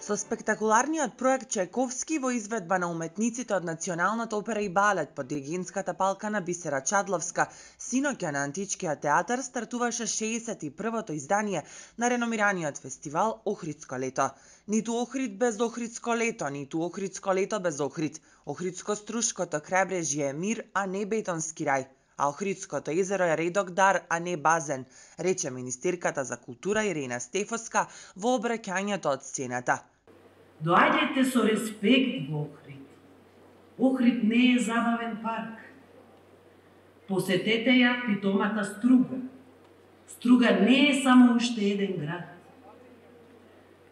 Со спектакуларниот проект Чајковски во изведба на уметниците од Националната опера и балет под диригентската палка на Бисера Чадловска, синоќа на Античкиот театар стартуваше 61-то издание на реномираниот фестивал Охридско лето. Ниту Охрид без Охридско лето, ниту Охридско лето без Охрид. Охридско-Струшкото крајбрежје е мир, а не бетонски рај. А Охридското езеро е редок дар, а не базен, рече министерката за култура Ирена Стефоска во обраќањето од сцената. Доаѓајте со респект во Охрид. Охрид не е забавен парк. Посетете ја питомата Струга. Струга не е само уште еден град.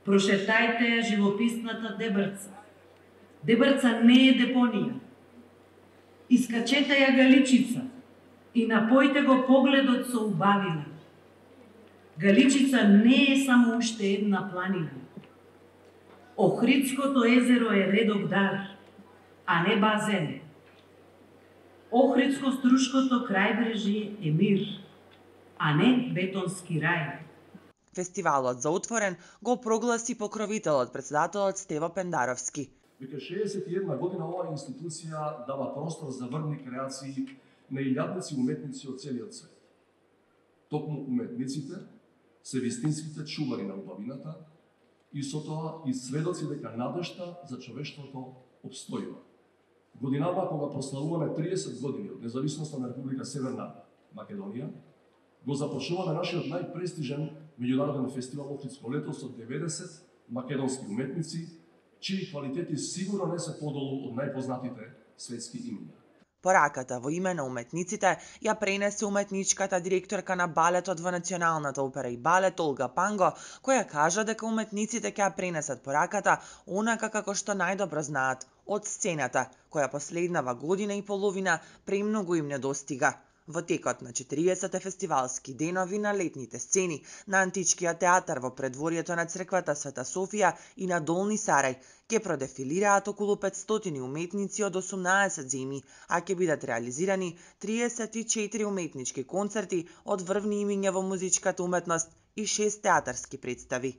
Прошетајте ја живописната Дебрца. Дебрца не е депонија. Искачете ја Галичица и напојте го погледот со убавина. Галичица не е само уште една планина. Охридското езеро е редок дар, а не базен. Охридско-Струшкото крајбрежје е мир, а не бетонски рај. Фестивалот за отворен го прогласи покровителот, председателот Стево Пендаровски. Веќе 61 година оваа институција дава простор за врни креации на илјадници уметници од целиот свет. Токму уметниците се вистинските чувари на убавината и со тоа и сведоци дека надежта за човештвото обстојува. Годинава кога прославуваме 30 години од независноста на Република Северна Македонија, го започнуваме нашиот најпрестижен меѓународен фестивал Охридско лето со 90 македонски уметници, чии квалитети сигурно не се подолу од најпознатите светски имиња. Пораката во име на уметниците ја пренесе уметничката директорка на балетот во Националната опера и балет Олга Панго, која кажа дека уметниците ќе ја пренесат пораката онака како што најдобро знаат, од сцената, која последнава година и половина премногу им недостига. Во текот на 40 фестивалски денови на летните сцени на Античкиот театар во предворието на црквата Света Софија и на Долни Сарај ќе продефилираат околу 500 уметници од 18 земји, а ќе бидат реализирани 34 уметнички концерти од врвни имиња во музичката уметност и 6 театарски представи.